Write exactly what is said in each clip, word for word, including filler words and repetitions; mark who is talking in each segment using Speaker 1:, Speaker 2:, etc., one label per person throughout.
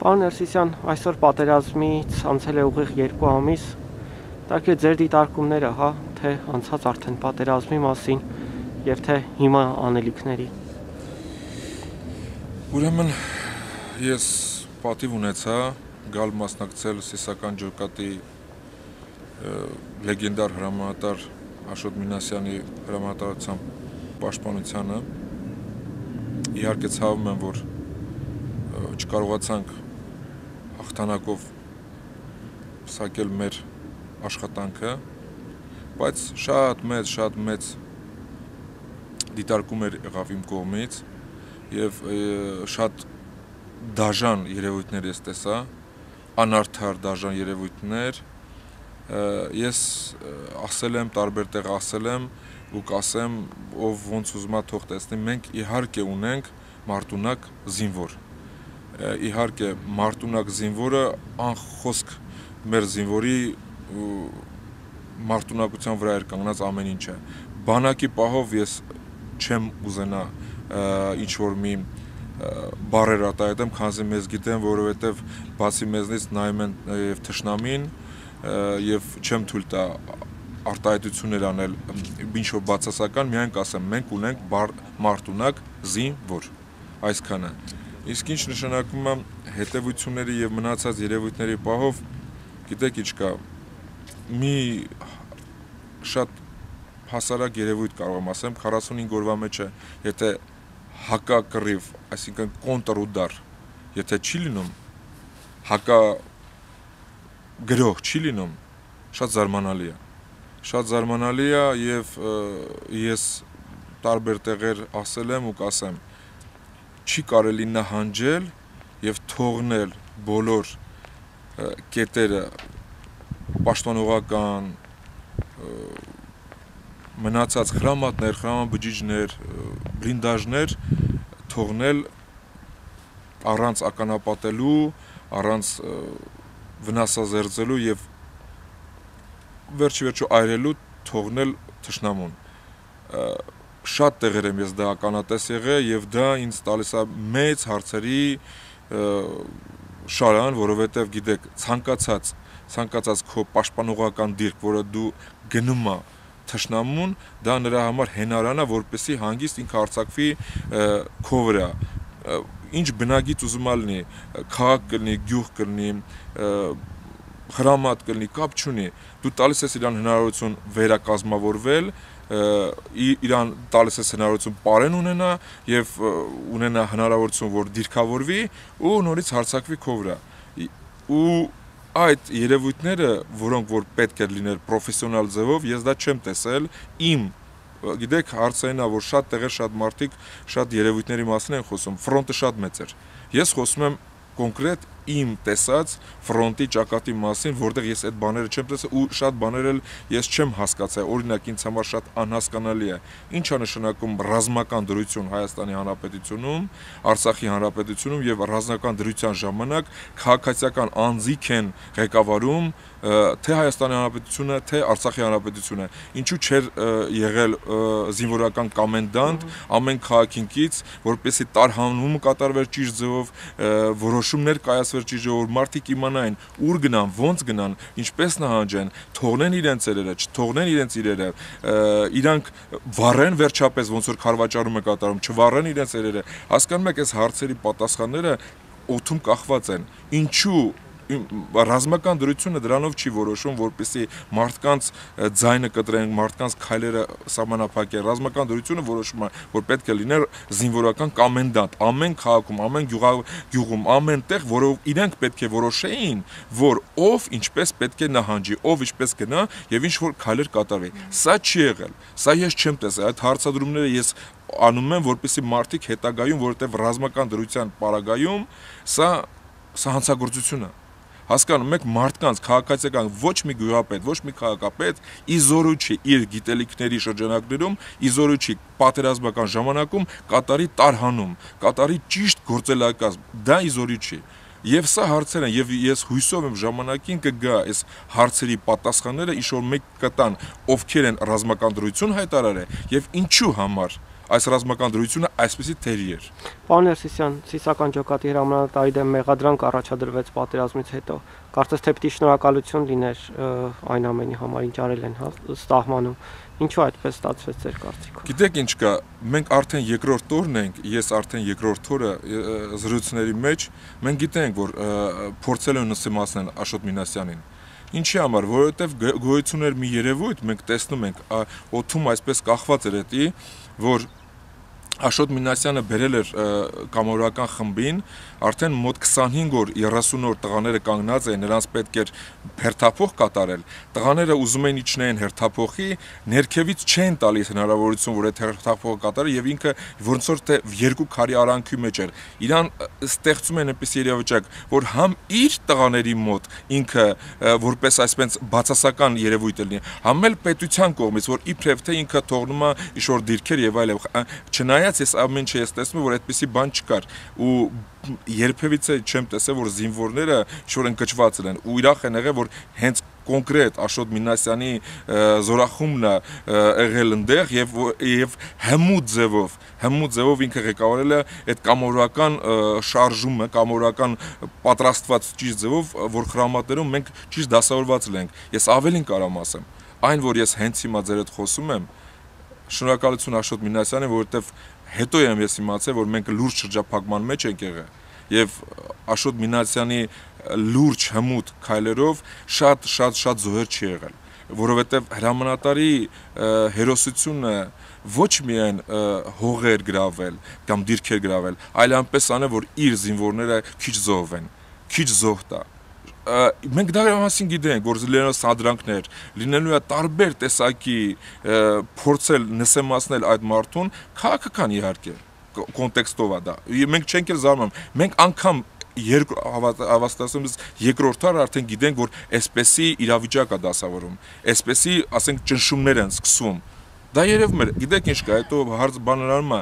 Speaker 1: Պարոն Ներսիսյան, այսօր պատերազմից անցել է ուղիղ երկու ամիս, տակ է ձեր դիտարկումները, հա, թե անցած արդեն պատերազմի մասին եւ թե հիմա անելիքների։
Speaker 2: Ուրեմն ես պատիվ ունեցա գալ մասնակցել Սիսական ջոկատի լեգենդար հրամանատար Աշոտ Մինասյանի հրամանատարությամբ պաշտպանությանը։ Իհարկե ցավում եմ, որ չկարողացանք հաղթանակով փսակել մեր աշխատանքը, բայց շատ մեծ, շատ մեծ դիտարկում էր եղավ իմ կողմից եւ շատ դաժան երևույթներ ես տեսա, անարդար դաժան երևույթներ։ Ես ասել եմ, տարբեր տեղ ասել եմ ու կասեմ, ով ոնց ուզում է թող տեսնի, մենք իհարկե ունենք մարտունակ զինվոր։ Իհարկե մարտունակ զինվորը անխոսք մեր զինվորի մարտունակության վրա էր կանգնած ամեն ինչը։ Բանակի պահով ես չեմ ուզենա ինչ-որ մի բառեր արտահայտեմ, քանզի մեզ գիտեմ, որովհետև բացի մեզնից նայում են եւ թշնամին եւ չեմ թույլ տա արտահայտություններ անել ինչ-որ բացասական, միայն կասեմ, մենք ունենք մարտունակ զինվոր, այսքանը։ Իսկ ինչ նշանակում է հետևությունների եւ մնացած երևույթների պահով, գիտեք ինչ կա, մի շատ հասարակ երևույթ կարող եմ ասեմ, քառասունհինգ օրվա մեջ է, եթե հակակռիվ, այսինքն կոնտրուդար, եթե չի լինում, հակա գրող չի լինում, շատ զարմանալի է։ Շատ զարմանալի է եւ ես տարբեր տեղեր ասել եմ ու կասեմ, չի կարելի նահանջել եւ թողնել բոլոր կետերը պաշտպանողական մնացած խրամատներ, խրամաբջիջներ, բլինդաժներ թողնել առանց ականապատելու, առանց վնասազերծելու եւ վերջի վերջո այրելու թողնել թշնամուն։ Շատ տեղեր եմ ես դա ականատես եղել եւ դա ինձ տալիս է մեծ հարցերի շարան, որովհետեւ գիտեք, ցանկացած ցանկացած քո պաշտպանողական դիրք, որը դու գնում ես թշնամուն, դա նրա համար հենարան է, որպեսզի հանգիստ ինքը հարձակվի քո վրա։ Ինչ բնագիծ ուզում ալնի, քաղաք կլինի, գյուղ կլինի, խրամատ կլինի, կապ չունի, դու տալիս ես իրան հնարավորություն վերակազմավորվել, իրան տալիս ես հնարավորություն պարեն ունենա եւ ունենա հնարավորություն, որ դիրքավորվի ու նորից հարձակվի քո վրա։ Ու այդ երևույթները, որոնք որ պետք է լիներ պրոֆեսիոնալ ձևով, ես դա չեմ տեսել իմ, գիտեք, հարցերն է, որ շատ տեղեր, շատ մարդիկ շատ երևույթների մասին են խոսում, ֆրոնտը շատ մեծ էր։ Ես խոսում եմ կոնկրետ իմ տեսած ֆրոնտի ճակատի մասին, որտեղ ես այդ բաները չեմ տեսել ու շատ բաներ էլ ես չեմ հասկացել, օրինակ ինձ համար շատ անհասկանալի է, ինչ է նշանակում ռազմական դրություն Հայաստանի Հանրապետությունում, Արցախի Հանրապետությունում եւ ռազմական դրության ժամանակ քաղաքացիական անձիկ են ղեկավարում թե Հայաստանի Հանրապետությունը, թե Արցախի Հանրապետությունը, ինչու չէր եղել զինվորական կոմենդանտ ամեն քաղաքինքից, որպեսզի տարհանումը կատարվեր ճիշտ ձևով, որոշումներ կայացվեր ճիշտ ձևով, մարդիկ իմանային ուր գնան, ոնց գնան, ինչպես նահանջեն, թողնեն իրենց իրերը, չթողնեն իրենց իրերը, իրանք վառեն վերջապես ոնց որ քարվաճառում է կատարում, չվառեն իրենց իրերը։ Հասկանում եք, այս հարցերի պատասխանները օդում կախված են։ Ինչու ռազմական դրությունը դրանով չի որոշում, որպեսզի մարդկանց ձայնը կտրեն, մարդկանց քայլերը սահմանափակեն։ Ռազմական դրությունը որոշում է, որ պետք է լիներ զինվորական կոմենդանտ ամեն քաղաքում, ամեն գյուղում, ամեն տեղ, որով իրենք պետք է որոշեին, որ ով ինչպես պետք է նահանջի, ով ինչպես գնա եւ ինչ որ քայլեր կատարվի։ Սա չի եղել։ Սա ես չեմ տեսել։ Այդ հարցադրումները ես անում եմ, որպեսզի մարդիկ հետագայում, որովհետեւ ռազմական դրության պարագայում սա սա հանցագործություն է։ Հասկանում եք, մարդկանց քաղաքացիական ոչ մի գյուղապետ, ոչ մի քաղաքապետ իզորու չի իր գիտելիքների շրջանակներում, իզորու չի պատերազմական ժամանակում կատարի տարհանում, կատարի ճիշտ գործելակազմ, դա իզորու չի։ Եվ սա հարցեր են, եւ ես հույսով եմ ժամանակին կգա այս հարցերի պատասխանները, ինչ որ մեկ կտան, ովքեր են ռազմական դրություն հայտարարել եւ ինչու համար այս ռազմական դրությունը այսպեսի թերի էր։
Speaker 1: Պարոն Ներսիսյան, Սիսական ջոկատի հրամանատարի դեմ մեղադրանք առաջադրվեց պատերազմից հետո։ Կարծես թե պիտի շնորհակալություն լիներ այն ամենի համար, ինչ արել են, հա, սահմանում։ Ինչու այդպես ստացվեց ձեր կարծիքով։
Speaker 2: Գիտեք ինչ կա, մենք արդեն երկրորդ օրն ենք, ես արդեն երկրորդ օրը զրույցների մեջ, մենք գիտենք, որ փորձել են նսեմացնել Աշոտ Մինասյանին։ Ինչի համար, որովհետև գոյություն էր մի երևույթ, մենք տեսնում ենք, օդում այսպես կախված էր էտի, որ Աշոտ Մինասյանը բերել էր կամավորական խմբին, արդեն մոտ քսանհինգ օր, երեսուն օր տղաները կանգնած էին, նրանց պետք էր հերթափոխ կատարել։ Տղաները ուզում էին իջնեին հերթափոխի, ներքևից չեն տալիս հնարավորություն, որ այդ հերթափոխը կատարի, եւ ինքը ոնց որ թե երկու քարի արանքի մեջ էր։ Իրան ստեղծում են այնպես երևույթ, որ համ իր տղաների մոտ ինքը որպես այսպես բացասական երևույթ լինի, համ էլ պետության կողմից, որ իբրև թե ինքը թողնում է ինչ-որ դիրքեր եւ այլն, չնայած ես ամեն ինչ ես տեսնում, որ այդպեսի բան չկար ու երբևիցե չեմ տեսել, որ զինվորները ինչ-որ ընկճված են ու ուրախ են եղել, որ հենց կոնկրետ Աշոտ Մինասյանի զորախումբն է եղել այնտեղ եւ եւ հմուտ ձևով, հմուտ ձևով ինքը ղեկավարել է այդ կամավորական շարժումը, կամավորական պատրաստված ճիշտ ձևով, որ խրամատներում մենք ճիշտ դասավորված ենք։ Ես ավելին կարամ ասեմ, այն որ ես հենց հիմա ձեր հետ խոսում եմ, շնորհակալություն Աշոտ Մինասյանին, որովհետև հետո եմ ես իմացել, որ մենք լուրջ շրջափակման մեջ ենք եղել եւ Աշոտ Մինասյանի լուրջ հմուտ քայլերով շատ շատ շատ զոհեր չի եղել, որովհետև հրամանատարի հերոսությունը ոչ միայն հողեր գրավել կամ դիրքեր գրավել, այլ այնպես անել, որ իր զինվորները քիչ զոհվեն, քիչ զոհ տա։ Մենք դա մասին գիտենք, որ լինելու սադրանքներ, լինելու է տարբեր տեսակի փորձել նսեմացնել այդ մարդուն, քաղաքական իհարկե կոնտեքստով է դա։ Մենք չենք էլ զարմանում, մենք անգամ հավաստասում ես երկրորդ տարի արդեն գիտենք, որ այսպեսի իրավիճակ է դասավորում, այսպեսի, ասենք, ճնշումներ են սկսում։ Դա երևում է, գիտեք ինչ կա, հետո հարց բանալարում է,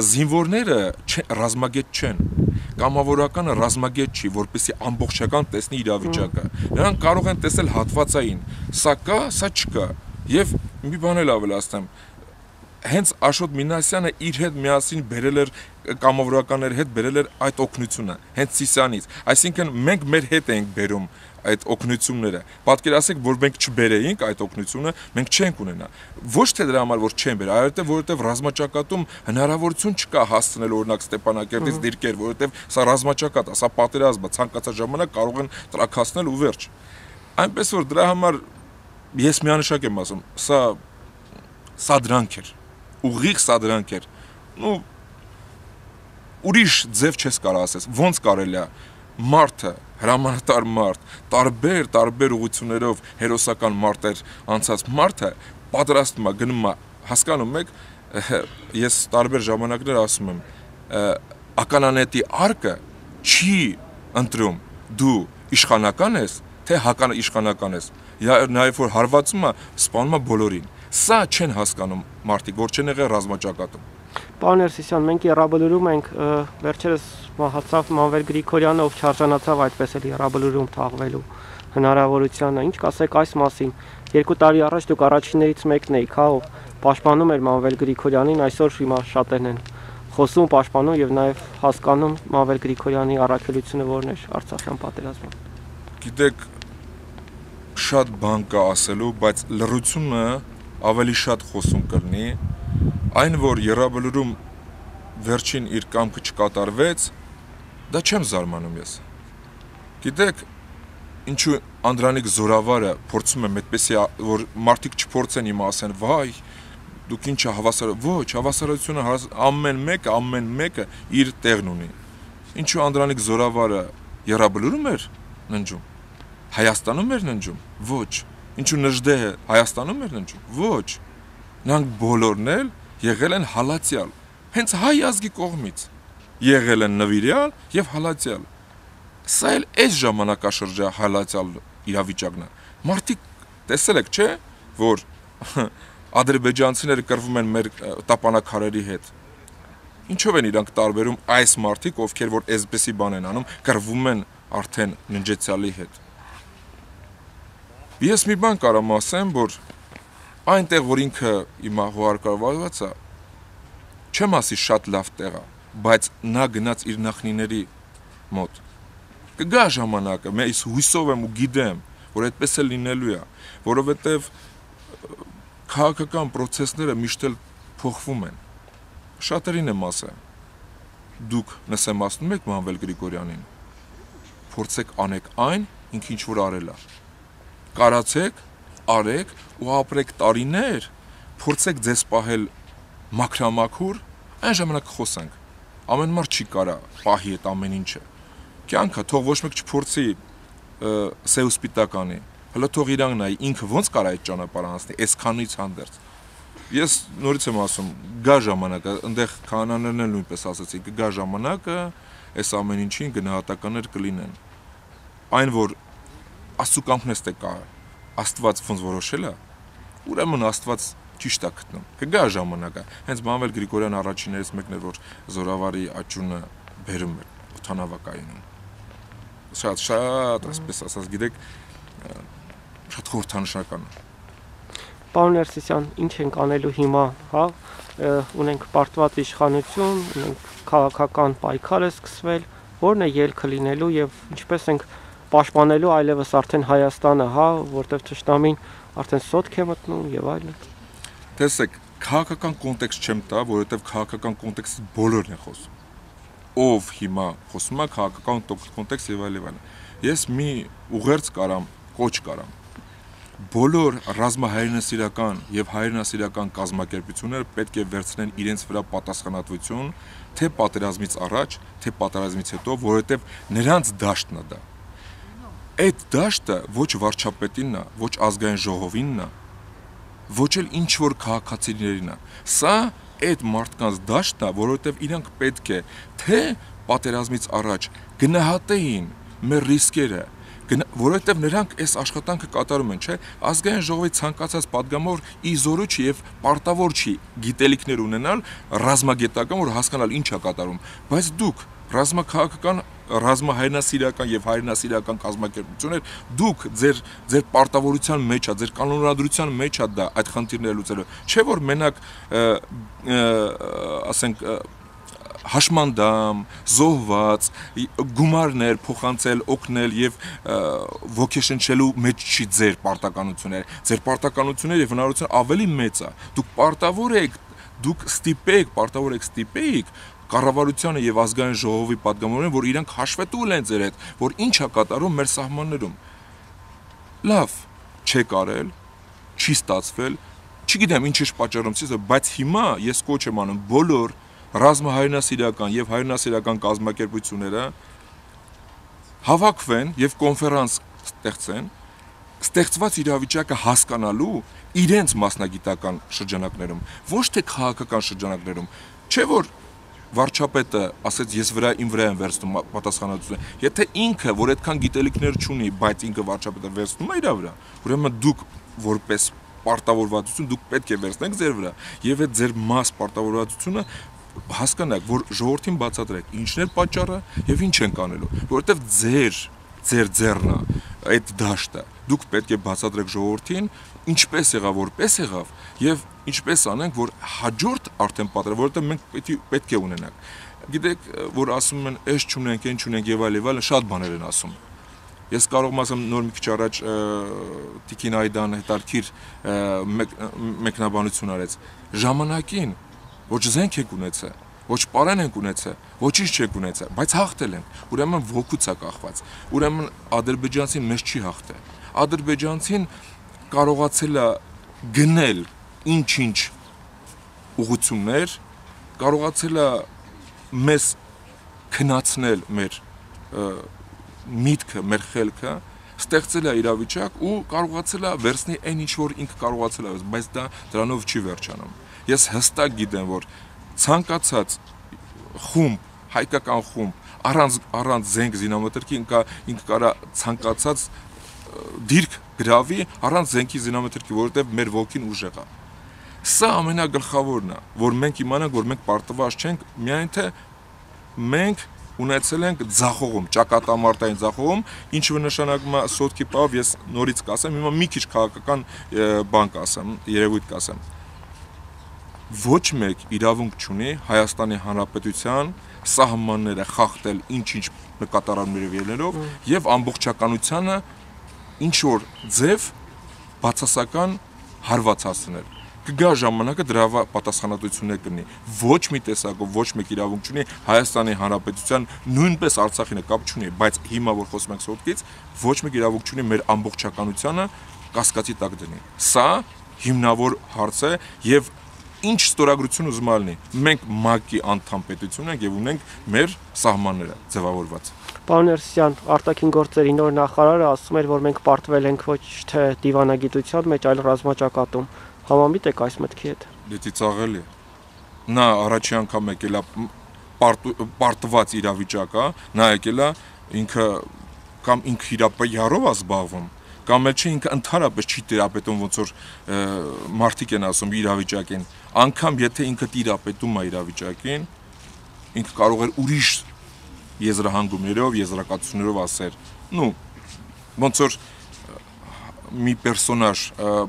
Speaker 2: զինվորները ռազմագետ չեն, կամավորականը ռազմագետ չի, որպեսզի ամբողջական տեսնի իրավիճակը։ Նրանք կարող են տեսնել հատվածային, սա կա, սա չկա։ Եվ մի բան էլ ավելացնեմ, հենց Աշոտ Մինասյանը իր հետ միասին բերել էր կամավորականների հետ բերել էր այդ օգնությունը, հենց Սիսյանից։ Այսինքն մենք մեր հետ ենք բերում այդ օգնությունները։ Պատկերացրեք, որ մենք չբերեինք այդ օգնությունը, մենք չենք ունենա։ Ոչ թե դրա համար, որ չեն բեր, այլ որովհետև ռազմաճակատում հնարավորություն չկա հասցնել օրինակ Ստեփանակերտից դիրքեր, որովհետև սա ռազմաճակատ է, սա պատերազմ է, ցանկացած ժամանակ կարող են տրաքացնել ու վերջ։ Այնպես որ դրա համար ես միանշակ եմ ասում, սա սա դրանք էր, ուղիղ սա դրանք էր։ Ու ուրիշ ձև չես կարող ասես, ոնց կարելի է մարդը, հրամանատար մարդ, տարբեր տարբեր ուղղություններով հերոսական մարտեր անցած մարդը պատրաստվում է, գնում է, հասկանում եք, ես տարբեր ժամանակներ ասում եմ, ականանետի արկը չի ընտրում դու իշխանական ես, թե հական իշխանական ես, նաև որ հարվածում է, սպանում է բոլորին։ Սա չեն հասկանում մարդիկ, որ չեն եղել ռազմաճակատում։
Speaker 1: Պարոն Ներսիսյան, մենք Եռաբլուրում ենք, վերջերս մահացավ Մանվել Գրիգորյանը, ով չարժանացավ այդպես էլ Եռաբլուրում թաղվելու հնարավորությանը։ Ինչ կասեք այս մասին։ Երկու տարի առաջ դուք առաջիններից մեկն եք, հա, ով պաշտպանում էր Մանվել Գրիգորյանին, այսօր հիմա շատերն են խոսում, պաշտպանում եւ նաեւ հասկանում Մանվել Գրիգորյանի առաքելությունը որն էր Արցախյան պատերազմում։
Speaker 2: Գիտեք, շատ բան կա ասելու, բայց լռությունը ավելի շատ խոսում կլինի, այն որ Եռաբլուրում վերջին իր կամքը չկատարվեց, դա չեմ զարմանում ես։ Գիտեք, ինչու Անդրանիկ Զորավարը փորձում եմ այդպեսի, որ մարդիկ չփորձեն իմը ասեն, վայ, դուք ինչ հավասար, ոչ, հավասարությունը ամեն մեկը, ամեն մեկը իր տեղն ունի։ Ինչու Անդրանիկ Զորավարը Եռաբլուրում էր ննջում, Հայաստանում էր ննջում, ոչ։ Ինչու Նժդեհը Հայաստանում էր ննջում, ոչ։ Նրանք բոլորն էլ եղել են հալածյալ, հենց հայ ազգի կողմից, եղել են նվիրյալ և հալածյալ, սա էլ այս ժամանակաշրջա հալածյալ իրավիճակն է, մարդիկ տեսել եք չէ, որ ադրբեջանցիները կռվում են մեր տապանակարերի հետ, ինչով են իրանք տարբերում այս մարդիկ, ովքեր որ այսպեսի բան են անում, կռվում են արդեն ննջեցյալի հետ, ես մի բան կարամ ասեմ, որ այնտեղ, որ ինքը իմա հուարկարված է, չեմ ասի շատ լավ տեղ է, բայց նա գնաց իր նախնիների մոտ։ Կգա ժամանակը, ես հույսով եմ ու գիտեմ, որ այդպես է լինելու է, որովհետև քաղաքական process-ները միշտ էլ փոխվում են։ Շատերին եմ ասել, դուք նսեմացնում եք Մանվել Գրիգորյանին, փորձեք անեք այն, ինքը ինչ որ արել է։ Կարացեք, արեք ու ապրեք տարիներ, փորձեք ձեզ պահել մաքրամաքուր, այն ժամանակ խոսենք։ Ամեն մարդ չի կարա պահի այդ ամեն ինչը։ Կյանքը թող ոչ մեկ չփորձի սև սպիտականի։ Հələ թող իրան նայի, ինքը ոնց կարա այդ ճանապարհը անցնի, այսքանից հանդերձ։ Ես նորից եմ ասում, գա ժամանակը, այնտեղ քահանաներն էլ նույնպես ասացին, կգա ժամանակը, այս ամեն ինչին գնահատականներ կլինեն։ Այն որ Աստծո կամքն է կա, Աստված ոնց որոշել է, ուրեմն Աստված ճիշտ է գտնում։ Կգա ժամանակը։ Հենց Մանվել Գրիգորյան առաջիններից մեկն էր, որ զորավարի աճյունը բերում էր օդանավակայանում։ Շատ շատ, այսպես ասած, գիտեք, շատ խորհրդանշական է։
Speaker 1: Պարոն Ներսիսյան, ինչ ենք անելու հիմա, հա, ունենք պարտված իշխանություն, ունենք քաղաքական պայքար է սկսվել, որն է ելքը լինելու եւ ինչպես ենք պաշտպանելու այլևս արդեն Հայաստանը, հա, որտեղ ճշտամին արդեն սոտք է մտնում եւ այլն։
Speaker 2: Տեսեք, քաղաքական կոնտեքստ չեմ տա, որովհետեւ քաղաքական կոնտեքստի բոլորն են խոսում։ Ով հիմա խոսում է քաղաքական կոնտեքստ եւ այլ եւ այլն։ Ես մի ուղերձ կարամ, կոչ կարամ։ Բոլոր ռազմահայրենասիրական եւ հայրենասիրական կազմակերպությունները պետք է վերցնեն իրենց վրա պատասխանատվություն, թե պատերազմից առաջ, թե պատերազմից հետո, որովհետեւ նրանց դաշտն է դա։ Այդ դաշտը ոչ վարչապետինն է, ոչ ազգային ժողովինն է, ոչ էլ ինչ որ քաղաքացիներին է։ Սա այդ մարդկանց դաշտն է, որովհետեւ իրանք պետք է թե պատերազմից առաջ գնահատեին մեր ռիսկերը, որովհետև նրանք այս աշխատանքը կատարում են, չէ՞, ազգային ժողովի ցանկացած падգամավոր ի զորու չի եւ պարտավոր չի գիտելիքներ ունենալ ռազմագետական, որ հասկանալ ինչ է կատարում, բայց դուք ռազմաքաղաքական, ռազմահայրենասիրական եւ հայրենասիրական կազմակերպություններ, դուք ձեր ձեր պարտավորության մեջ է, ձեր կանոնադրության մեջ է դա այդ խնդիրները լուծելու, չէ՞ որ մենակ ասենք հաշմանդամ, զոհված, գումարներ փոխանցել, օգնել եւ ոգեշնչելու մեջ չի ձեր պարտականությունները։ Ձեր պարտականությունները եւ հնարավորությունը ավելի մեծ է։ Դուք պարտավոր եք, դուք ստիպեք, պարտավոր եք ստիպեիք կառավարությանը եւ ազգային ժողովի падգամավորին, որ իրանք հաշվետու լինեն ձեր հետ, որ ինչ է կատարում մեր սահմաններում։ Լավ, չեք արել, չի ստացվել, չգիտեմ ինչ է պատճառով, բայց հիմա ես կոչ եմ անում բոլոր ռազմահայրենասիրական եւ հայրենասիրական կազմակերպությունները հավաքվեն եւ կոնֆերանս ստեղծեն, ստեղծված իրավիճակը հասկանալու իրենց մասնագիտական շրջանակներում, ոչ թե քաղաքական շրջանակներում, չէ՞ որ վարչապետը ասեց ես վրա իմ վրա եմ վերցնում պատասխանատվությունը, եթե ինքը, որ այդքան գիտելիքներ չունի, բայց ինքը վարչապետը վերցնում է իր վրա, ուրեմն դուք որպես պարտավորվածություն դուք պետք է վերցնեք ձեր վրա եւ այդ ձեր մաս պարտավորվածությունը հասկանաք, որ ժողովրդին բացատրեք ինչն է պատճառը եւ ինչ ենք անելու, որովհետեւ ձեր ձեր ձեռնա այդ դաշտը դուք պետք է բացատրեք ժողովրդին ինչպես եղավ, որպես եղավ եւ ինչպես անենք, որ հաջորդ արդեն պատրաստ, որովհետեւ մենք պետք է պետք է ունենանք։ Գիտեք, որ ասում են, «Էս չունենք, այն չունենք» եւ այլ եւ այլ, շատ բաներ են ասում։ Ես կարող եմ ասեմ նոր մի քիչ առաջ Տիկին Այդան հետարքիր մեկնաբանություն արեց։ Ժամանակին ոչ զենք եք ունեցել, ոչ պարան ենք ունեցել, ոչինչ չեք ունեցել, բայց հաղթել ենք։ Ուրեմն ոգուց է կախված։ Ուրեմն ադրբեջանցին մեզ չի հաղթել։ Ադրբեջանցին կարողացել է գնել ինչ-ինչ ուղղություններ, կարողացել է մեզ քնացնել մեր միտքը, մեր խելքը, ստեղծել է իրավիճակ ու կարողացել է վերցնել այն ինչ որ ինքը կարողացել է, բայց դա դրանով չի վերջանում։ Ես հստակ գիտեմ, որ ցանկացած խումբ, հայկական խումբ, առանց առանց զենք զինամթերքի ինքը կարա ցանկացած դիրք գրավի առանց զենքի զինամթերքի, որովհետև մեր ոգին ուժեղ է։ Սա ամենագլխավորն է, որ մենք իմանանք, որ մենք պարտված չենք, միայն թե մենք ունեցել ենք ձախողում, ճակատամարտային ձախողում, ինչը նշանակում է սոտքի պահով, ես նորից կասեմ, հիմա մի քիչ քաղաքական բան կասեմ, երևույթ կասեմ։ ոչ մեկ իրավունք չունի Հայաստանի Հանրապետության սահմանները խախտել ինչ-ինչ նկատառումներով ելնելով եւ ամբողջականությանը ինչ որ ձև բացասական հարված հասցնել։ Կգա ժամանակը դրա պատասխանատվություններ կլինի։ Ոչ մի տեսակով ոչ մեկ իրավունք չունի Հայաստանի Հանրապետության նույնպես Արցախի հետ կապ չունի, բայց հիմա որ խոսում ենք սոտկից, ոչ մեկ իրավունք չունի մեր ամբողջականությանը կասկածի տակ դնի։ Սա հիմնավոր հարց է եւ ինչ ստորագրություն ուզում ալնի։ Մենք ՄԱԿ-ի անդամ պետություն ենք եւ ունենք մեր սահմանները ձևավորված։
Speaker 1: Պարոն Ներսիսյան, արտաքին գործերի նոր նախարարը ասում էր, որ մենք պարտվել ենք ոչ թե դիվանագիտության մեջ, այլ ռազմաճակատում։ Համամիտ եք այս մտքի հետ։
Speaker 2: Դե ծիծաղելի է։ Նա առաջի անգամ եկել է պարտված իրավիճակա, նա եկել է ինքը կամ ինքը իրապայարով է զբաղվում, կամ էլ չի ինքը ընդհանրապես չի տիրապետում ոնց որ մարդիկ են ասում իրավիճակին, անգամ եթե ինքը տիրապետում է իրավիճակին, ինքը կարող էր ուրիշ եզրահանգումներով, եզրակացություններով ասել, նու ոնց որ մի պերսոնաժ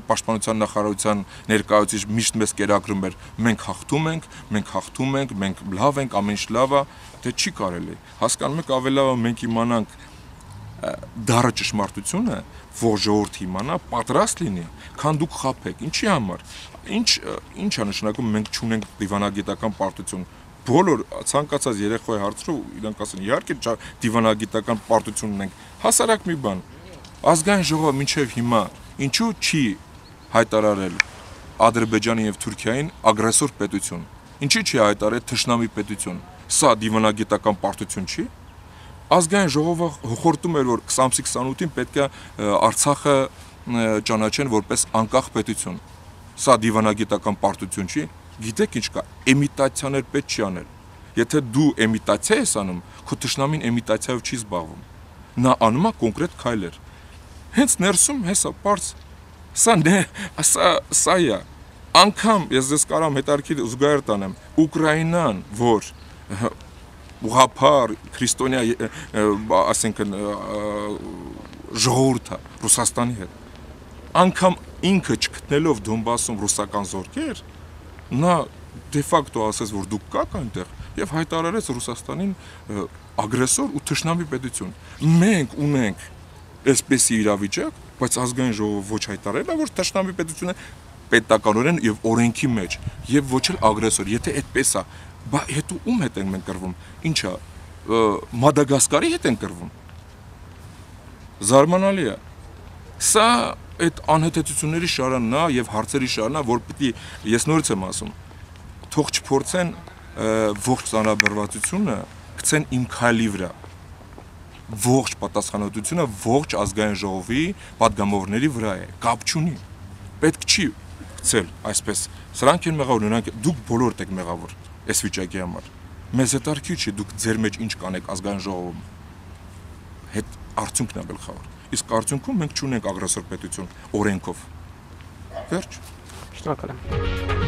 Speaker 2: պաշտպանության նախարարության ներկայացուցիչ միշտ մեզ կերակրում էր, մենք հաղթում ենք, մենք հաղթում ենք, մենք լավ ենք, ամեն ինչ լավ է, դե չի կարելի։ Հասկանում եք, ավելի լավ է մենք իմանանք դառը ճշմարտությունը, որ ժողովուրդը իմանա, պատրաստ լինի, քան դուք խաբեք։ Ինչի համար։ Ինչ ինչ է նշանակում մենք չունենք դիվանագիտական պարտություն։ Բոլոր ցանկացած երեխայի հարցրով իրանք ասեն, իհարկե դիվանագիտական պարտություն ունենք։ Հասարակ մի բան։ Ազգային ժողովը մինչև հիմա ինչու չի հայտարարել Ադրբեջանի եւ Թուրքիային ագրեսոր պետություն։ Ինչի չի հայտարարել թշնամի պետություն։ Սա դիվանագիտական պարտություն չի։ Ազգային ժողովը հոխորտում էր, որ քսանինը քսանութին պետք է Արցախը ճանաչեն որպես անկախ պետություն։ Սա դիվանագիտական պարտություն չի։ Գիտեք ինչ կա, էմիտացիաներ պետք չի անել։ Եթե դու էմիտացիա ես անում, քո թշնամին էմիտացիայով չի զբաղվում։ Նա անում է կոնկրետ քայլեր։ Հենց ներսում հեսա բարձ սա նե սա սա է անգամ ես դες կարամ հետարքի զուգահեռ տանեմ Ուկրաինան որ ուղղափառ քրիստոնյա ասենքն ժողովուրդը Ռուսաստանի հետ անգամ ինքը չգտնելով Դոնբասում ռուսական զորքեր նա դե ֆակտո ասես որ դուք կաք այնտեղ եւ հայտարարեց Ռուսաստանին ագրեսոր ու թշնամի պետություն մենք ունենք այսպեսի իրավիճակ, բայց ազգային ժողովը ոչ հայտարարել է, որ թշնամի պետությունը պետականորեն եւ օրենքի մեջ եւ ոչ էլ ագրեսոր։ Եթե այդպես է, բա հետո ում հետ ենք մենք կռվում։ Ինչա, Մադագասկարի հետ ենք կռվում։ Զարմանալի է։ Սա այդ անհետեցությունների շարանն է եւ հարցերի շարանն է, որ պիտի ես նորից եմ ասում, թող չփորձեն ողջ ծանրաբեռվածությունը գցեն իմ քայլի վրա։ Ողջ պատասխանատվությունը ողջ ազգային ժողովի պատգամավորների վրա է, կապ չունի։ Պետք չի գցել այսպես։ Սրանք են մեղավոր, նրանք դուք բոլորդ եք մեղավոր այս վիճակի համար։ Մեզ հետ արքի չի, դուք ձեր մեջ ինչ կանեք ազգային ժողովում։ Հետ արդյունքն է գլխավոր։ Իսկ արդյունքում մենք չունենք ագրեսոր պետություն օրենքով։ Վերջ։
Speaker 1: Շնորհակալ եմ։